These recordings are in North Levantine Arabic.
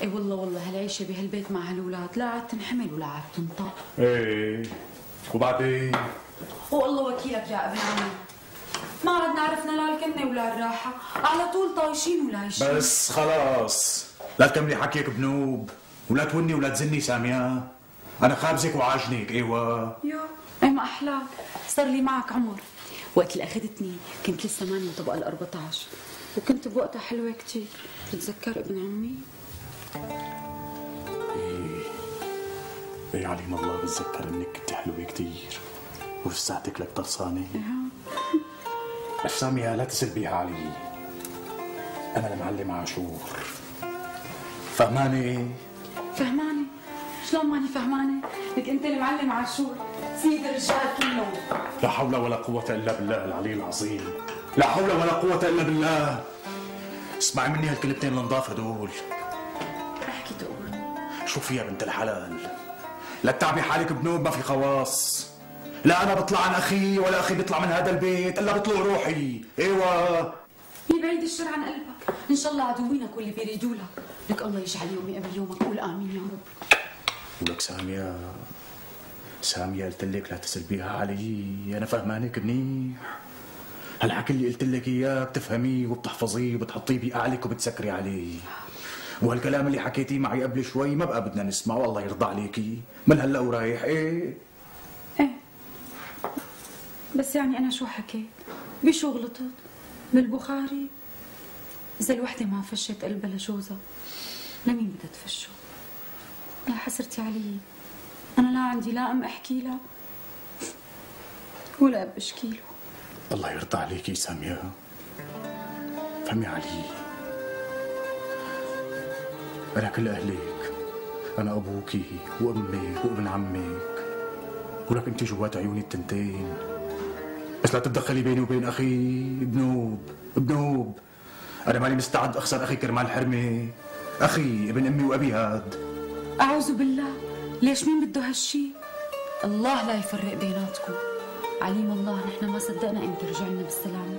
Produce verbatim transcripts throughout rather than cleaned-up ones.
اي والله والله هالعيشه بهالبيت مع هالولاد لا عاد تنحمل ولا عاد تنطق. ايه وبعدين؟ والله وكيلك يا ابن عمي، ما عدنا عرفنا لا الكنه ولا الراحه، على طول طايشين ولايشين. بس خلاص لا تكملي حكيك بنوب ولا توني ولا تزني ساميه، انا خابزك وعاجنك. ايوه يا اي ما احلاك، صار لي معك عمر. وقت اللي اخذتني كنت لسه ماني طبقه ال أربعطعش وكنت بوقتها حلوه كثير، بتتذكر ابن عمي؟ ايه ايه عليم الله بتذكر انك كنت حلوه كثير ولساتك لك طرسانه. بس ساميه لا تسلبيها علي، انا المعلم عاشور، فهماني؟ فهماني؟ شلون ماني فهمانه؟ لك انت المعلم عاشور سيد الرجال كلهم. لا حول ولا قوة إلا بالله العلي العظيم، لا حول ولا قوة إلا بالله. اسمعي مني هالكلمتين النضاف هدول. احكي تقول. شوفي يا بنت الحلال، لا تتعبي حالك بنوب، ما في خواص. لا أنا بطلع عن أخي ولا أخي بيطلع من هذا البيت إلا بطلع روحي. أيوة يبعد الشر عن قلبك، إن شاء الله عدوينك واللي بيريدوا لك، لك الله يجعل يومي قبل يومك، قول آمين يا رب. ولك سامية، سامية قلت لك لا تسلبيها علي، أنا فهمانك منيح. هالحكي اللي قلت لك إياه بتفهميه وبتحفظيه وبتحطيه بقعلك وبتسكري عليه. وهالكلام اللي حكيتيه معي قبل شوي ما بقى بدنا نسمعه، والله يرضى عليكي، من هلا ورايح. إيه إيه بس يعني أنا شو حكيت؟ بشو غلطت؟ بالبخاري إذا الوحدة ما فشت قلبها لجوزها لمين بدها تفشه؟ يا حسرتي علي، أنا لا عندي لا أم أحكي لها ولا أب أشكي له. الله يرضى عليكي سامية، فهمي علي، أنا كل أهلك، أنا أبوكي وأمك وابن عمك، ولك أنت جوات عيوني التنتين، بس لا تتدخلي بيني وبين أخي بنوب. بنوب أنا ماني مستعد أخسر أخي كرمال حرمة، أخي ابن أمي وأبي هاد. أعوذ بالله، ليش مين بده هالشي؟ الله لا يفرق بيناتكم، عليم الله نحن ما صدقنا امتى رجعنا بالسلامة،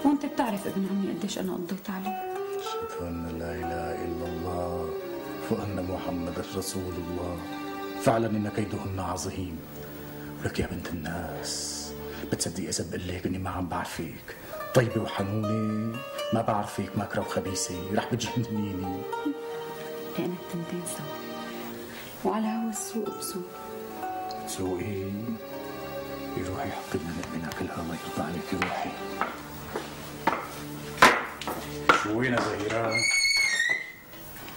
وانت بتعرف ابن عمي قديش أنا قضيت عليه. أشهد أن لا إله إلا الله وأن محمد رسول الله، فعلا إن كيدهن عظيم. ولك يا بنت الناس بتصدقي إذا بقول لك إني ما عم بعرفك، طيبة وحنونة، ما بعرفك ماكرة وخبيثة، رح بتجننيني. لأن التنتين سوا، وعلى هوا السوق بسوق. سوقي روحي حطي لنا نقمنا كلها، الله يرضى عليكي روحي. شو وين زهيرة؟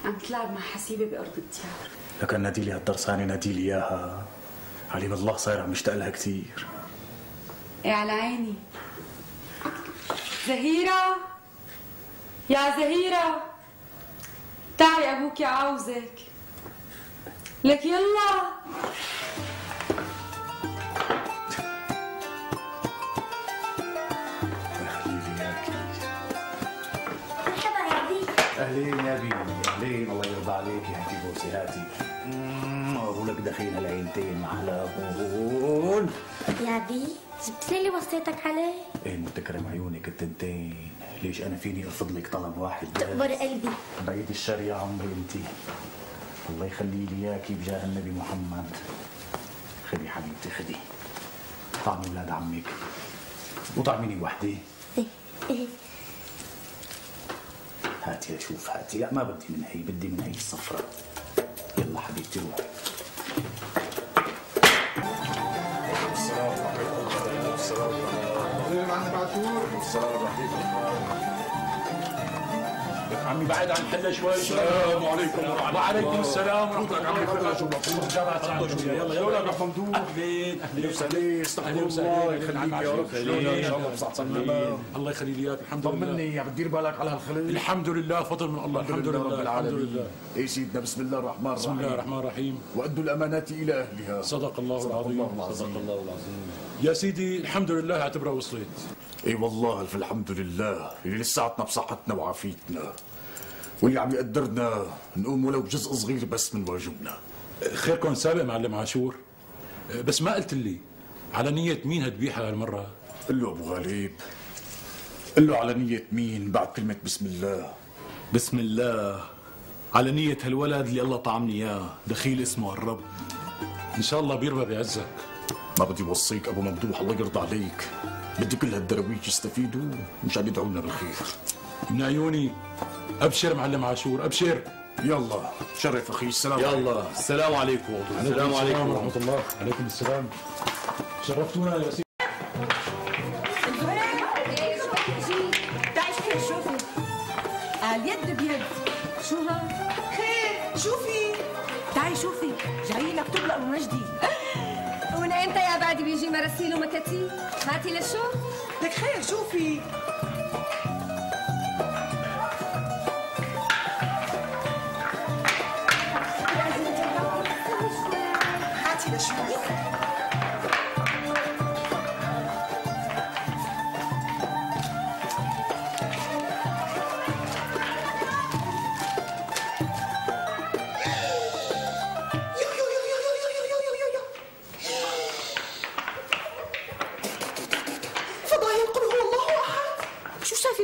عم تلعب مع حسيبة بأرض الديار. لك نادي لي هالدرسانة، نادي لي إياها، عليم الله صاير عم يشتاق لها كثير. ايه على عيني. زهيرة يا زهيرة، تعي أبوك عاوزك. لك يلا. اهلين يا بي، اهلين، الله يرضى عليك يا هاتي بوسي هاتي. اقول لك دخينا العينتين مع هون. يا بي جبت لي اللي وصيتك عليه؟ ايه متكرم عيونك التنتين، ليش انا فيني ارفض لك طلب واحد بس؟ تقبر قلبي. بعيد الشر يا عمري انتي، الله يخلي لي اياكي بجاه النبي محمد. خدي حبيبتي خدي، طعمي اولاد عمك وطعميني وحده. ايه ايه هاتي اشوف، هاتي. لا ما بدي من هي، بدي من هي الصفراء. يلا حبيبتي روحي. السلام عليكم. السلام عليكم. السلام عليكم. لك عمي بعد عن حلا شوي. السلام عليكم. وعليكم السلام ورحمة الله. عمي كلها شو مفروض جامعة. يلا يلا يا ممدوح. اهلين اهلين وسهلين. استغفر الله يخليك يا رب. ان شاء الله بصحة سلامة. الله يخلي لي اياك. الحمد لله. طمني، عم تدير بالك على هالخلق؟ الحمد لله، فضل من الله. الحمد لله رب العالمين. الحمد لله. ايه سيدنا، بسم الله الرحمن الرحيم. بسم الله الرحمن الرحيم. وأدوا الأمانات إلى أهلها. صدق الله العظيم. صدق الله العظيم. يا سيدي الحمد لله اعتبرها وصلت. اي والله الف الحمد لله اللي لساتنا بصحتنا وعافيتنا، واللي عم يقدرنا نقوم ولو بجزء صغير بس من واجبنا. خيركم سابق معلم عاشور، بس ما قلت لي على نية مين هالذبيحة هالمرة؟ قل له أبو غالب، قل له على نية مين بعد كلمة بسم الله. بسم الله على نية هالولد اللي الله طعمني اياه، دخيل اسمه الرب. ان شاء الله بيربى بعزك. ما بدي وصيك ابو ممدوح، الله يرضى عليك. بدي كل هالدرويش يستفيدوا مشان يدعوا لنا بالخير. من عيوني. ابشر معلم عاشور، ابشر. يلا شرف اخي. السلام يلا عليكم. السلام عليكم. السلام عليكم ورحمة الله. عليكم السلام. شرفتونا يا سيدي. تعي شوفي شوفي اليد بيد. شو ها؟ خير شوفي. تعي شوفي جاي لك تبلق ابو مجدي. ومن امتى يا بعدي بيجي مراسيل ومكاتيب؟ هاتي لشو؟ لك خير شوفي. هاتي لشوي.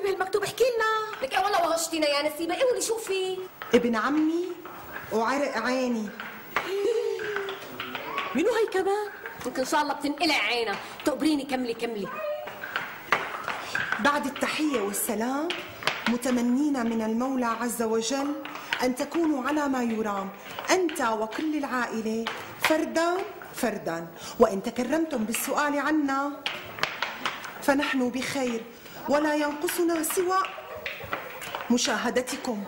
بهالمكتوب احكي لنا. لك ايه والله وغشتينا يا نسيبه. ايه ولي شوفي ابن عمي وعرق عيني. منو هي كمان؟ يمكن ان شاء الله بتنقلع عينها. تقبريني كملي كملي. بعد التحية والسلام متمنين من المولى عز وجل أن تكونوا على ما يرام أنت وكل العائلة فردا فردا، وإن تكرمتم بالسؤال عنا فنحن بخير ولا ينقصنا سوى مشاهدتكم.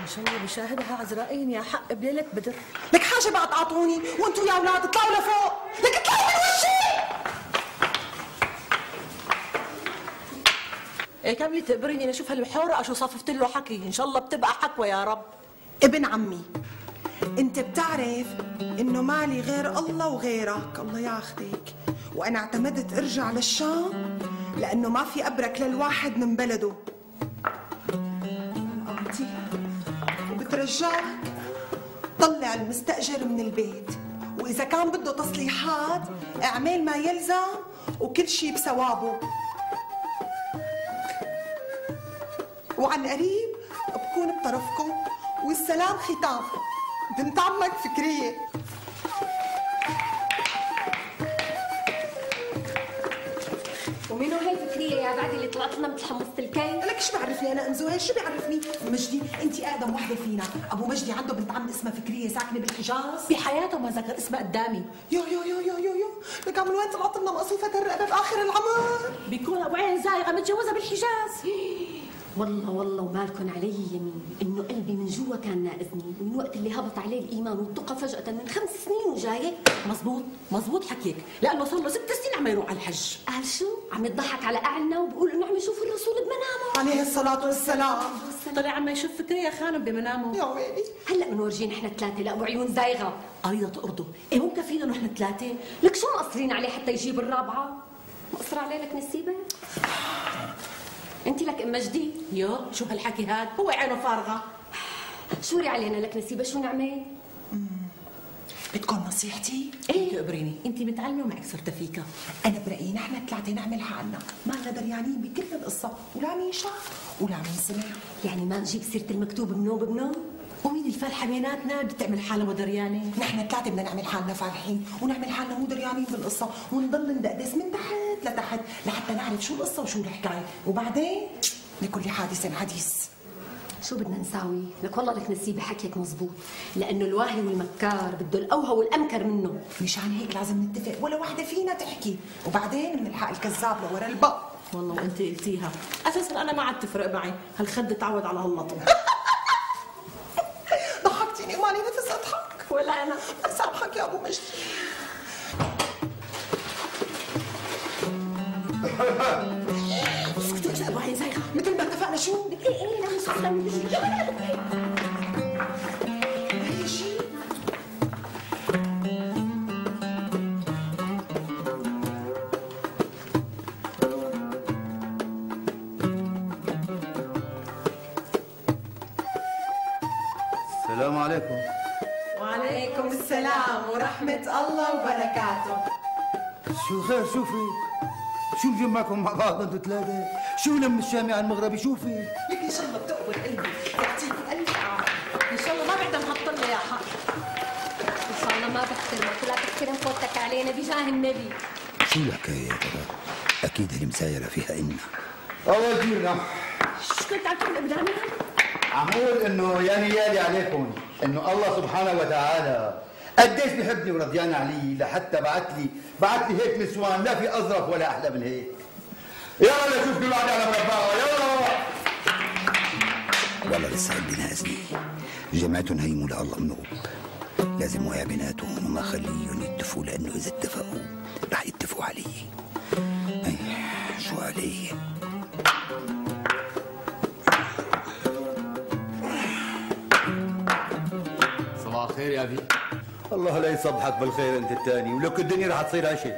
ان شاء الله بشاهدها عزرائيل يا حق بليلة بدر. لك حاجة بقى تعطوني وانتوا يا اولاد اطلعوا لفوق. لك اطلعوا من وشي. ايه كملي تقبريني لاشوف هالحورة شو صففت له حكي. ان شاء الله بتبقى حكوة يا رب. ابن عمي انت بتعرف انه مالي غير الله وغيرك، الله ياخذك، وانا اعتمدت ارجع للشام لانه ما في ابرك للواحد من بلده. أنتي وبترجاك طلع المستأجر من البيت، واذا كان بده تصليحات اعمل ما يلزم وكل شيء بثوابه. وعن قريب بكون بطرفكم، والسلام ختام. بنت عمك فكرية. ومنو هي فكرية يا بعدي اللي طلعت لنا مثل حمصة الكي؟ لك شو بعرفني انا انزو؟ شو بيعرفني؟ مجدي انت اقدم وحده فينا. ابو مجدي عنده بنت عم اسمها فكريه ساكنه بالحجاز. بحياته ما ذكر اسمها قدامي. يو يو يو يو يو يو لك من وين طلعت لنا مقصوفه الرقبه باخر العمر؟ بيكون ابو عين زايغه متجوزه بالحجاز. والله والله ومالكن علي يمين انه قلبي من جوا كان ناقزني من وقت اللي هبط عليه الايمان والتقى فجأة من خمس سنين وجاي. مزبوط مزبوط حكيك، لانه صار له ست سنين عم يروح على الحج. قال شو؟ عم يضحك على اعلنا وبقول انه عم يشوف الرسول بمنامه عليه الصلاه والسلام. طلع عم يشوف فكريه خانم بمنامه. يا ويلي. هلا بنورجيه نحن ثلاثه لابو عيون زايغه. قريضه ارضه. ايه مو مكفينا نحن ثلاثه؟ لك شو مقصرين عليه حتى يجيب الرابعه؟ مقصر عليه لك نسيبه؟ انت لك ام مجدي؟ يو شو هالحكي هاد؟ هو عينه فارغه. شوري علينا لك نسيبه. شو نعمل؟ بدكم نصيحتي؟ ايه تقبريني، انت متعلمه ومعك سرتفيكا. انا برايي نحن ثلاثه نعمل حالنا ما لنا دريانين بكل القصه، ولا مين شاف ولا مين سمع. يعني ما نجيب سيره المكتوب بنوب بنوب؟ ومين الفالحه بيناتنا بدها تعمل حالها مو دريانه؟ نحن ثلاثه بدنا نعمل حالنا فالحين ونعمل حالنا مو دريانين بالقصه، ونضل ندقدس من تحت لتحت لحتى نعرف شو القصه وشو الحكايه، وبعدين لكل حادث حديث. شو بدنا نساوي؟ لك والله لك نسيبه حكيك مزبوط، لانه الواهي والمكار بده الاوهى والامكر منه. مشان هيك لازم نتفق ولا وحده فينا تحكي، وبعدين بنلحق الكذاب لورا البق. والله وانت قلتيها، اساسا انا ما عاد تفرق معي، هالخد تعود على هاللطم. ضحكتيني ومالي نفس اضحك. ولا انا. سامحك يا ابو مجدي. اسكتي يا ابو عين زايغه. مثل ما اتفقنا. شو؟ ايه ايه لا مش قصدي. هي شيء السلام عليكم. وعليكم السلام ورحمة الله وبركاته. شو خير؟ شو في؟ شو مجمعكم مع بعض انتوا ثلاثة؟ شو لم الشامي على المغربي؟ شو في؟ لك ان شاء الله بتقبل قلبي، يعطيك الف عافية، ان شاء لك علينا بجاه النبي. شو الحكاية يا ترى؟ أكيد المسايرة فيها إنا. أول جيرنا شو كنت عم تقول إبراهيم؟ عم اقول انه يا نيالي عليكم انه الله سبحانه وتعالى قديش بحبني ورضيان علي لحتى بعت لي بعت لي هيك نسوان لا في اظرف ولا احلى من هيك. يلا نشوف كل واحد على مربعه يلا. والله لسه قلبي نازلي، جماعتهم هيموا لله منوب، لازم ويا بيناتهم وما خليهم يتفقوا، لانه اذا اتفقوا رح يتفقوا علي. اي شو علي؟ صباح الخير يا ابي. الله لا يصبحك بالخير انت الثاني، ولك الدنيا رح تصير هشة.